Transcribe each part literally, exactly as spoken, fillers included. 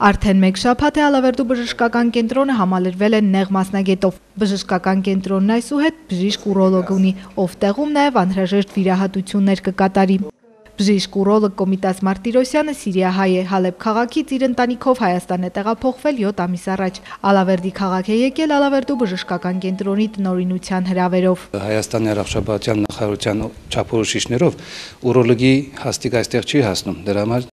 Արդեն մեկ շաբաթ է Ալավերդու բժշկական կենտրոնը համալրվել է նեղ մասնագետով։ Բժշկական կենտրոնն այսուհետ բժիշկ ուրոլոգ ունի, ով տեղում նաև անհրաժեշտ վիրահատություններ կկատարի։ Բժիշկ ուրոլոգ Կոմիտաս Մարտիրոսյանը սիրիահայ է, Հալեբ քաղաքից իր ընտանիքով Հայաստան է տեղափոխվել յոթ ամիս առաջ։ Ալավերդի քաղաք է եկել Ալավերդու բժշկական կենտրոնի տնօրինության հրավերով։ Հայաստանի առողջապահության նախարարության չափորոշիչներով ուրոլոգի հաստիկ այստեղ չի հասնում, դրա համար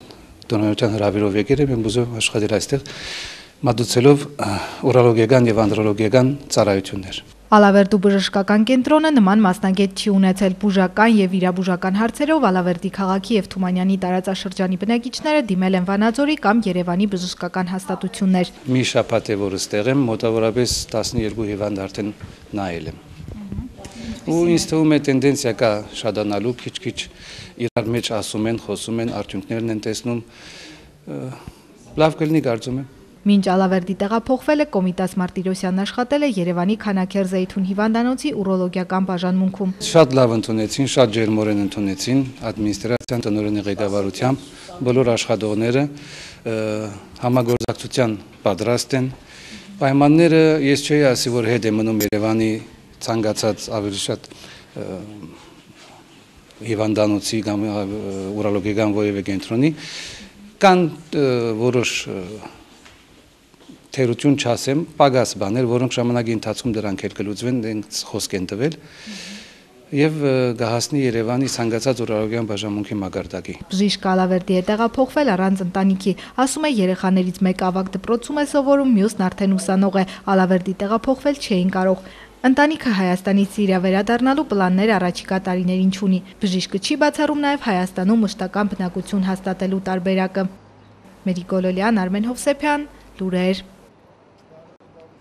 տնօրինության հրավերով եկել եմ ուզում աշխատել այստեղ մատուցելով ուրոլոգիական եւ անդրոլոգիական ծառայություններ։ Ալավերդու բժշկական կենտրոնը նման մասնագետ չի ունեցել բուժական եւ վիրաբուժական հարցերով Ալավերդի քաղաքի եւ Թումանյանի տարածաշրջանի բնակիչները դիմել են Վանաձորի կամ Երևանի բժշկական հաստատություններ։ Մի շաբաթ է որ ստեղ եմ, մոտավորապես տասնյոթ հիվանդ արդեն նայել եմ։ Ու ինձ թվում է տենդենսիա կա շատանալու, քիչ-քիչ իրար մեջ ասում են, խոսում են, արդյունքներն են տեսնում։ Լավ կլինի կարծում եմ։ Մինչ Ալավերդի տեղափոխվել է Կոմիտաս Մարտիրոսյանն աշխատել է Երևանի Քանաքեր Զեյթուն հիվանդանոցի ուրոլոգիական բաժանմունքում։ Շատ լավ ընդունեցին, շատ ջերմորեն ընդունեցին, ադմինիստրացիան տնօրենի ղեկավարությամբ բոլոր աշխատողները համագործակցության պատրաստ են։ Պայմանները ես չէի ասի, որ հետ է մնում Երևանի ցանկացած ավելի շատ հիվանդանոցի կամ ուրոլոգիական որևէ կենտրոնի կան որոշ թերություն չասեմ, պակաս բաներ, որոնք ժամանակի ընթացքում դրանք էլ կլուծվեն, դրանք խոսք են տվել եւ գահասնի Երևանի ցանկացած ուրոլոգիական բաժանմունքի մակարդակի։ Բժիշկ Ալավերդի է տեղափոխվել առանց ընտանիքի, ասում է երեխաներից մեկը ավագ դպրոցում է սովորում, մյուսն արդեն ուսանող է, Ալավերդի տեղափոխվել չէին կարող։ Ընտանիքը Հայաստանից Սիրիա վերադառնալու պլաններ առաջիկա տարիներին չունի։ Բժիշկը չի բացառում նաև Հայաստանում մշտական բնակություն հաստատելու տարբերակը։ Մերիկ Գոլոլյան, Արմեն Հովսեփյան, լուրեր։